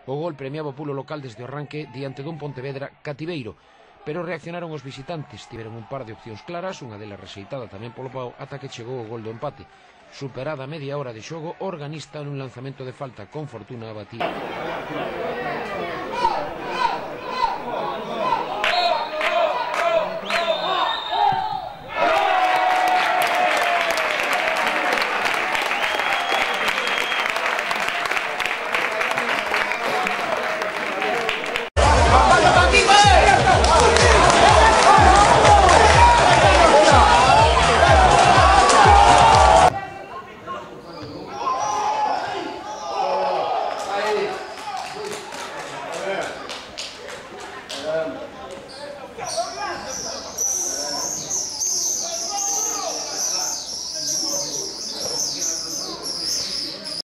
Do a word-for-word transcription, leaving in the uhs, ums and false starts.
O gol premiaba o pulo local desde o arranque diante dun Pontevedra cativeiro, pero reaccionaron os visitantes, tiveron un par de opcións claras, unha delas rexeitada tamén polo Pau, ata que chegou o gol do empate. Superada a media hora de xogo, Organista nun lanzamento de falta con Fortuna abatía.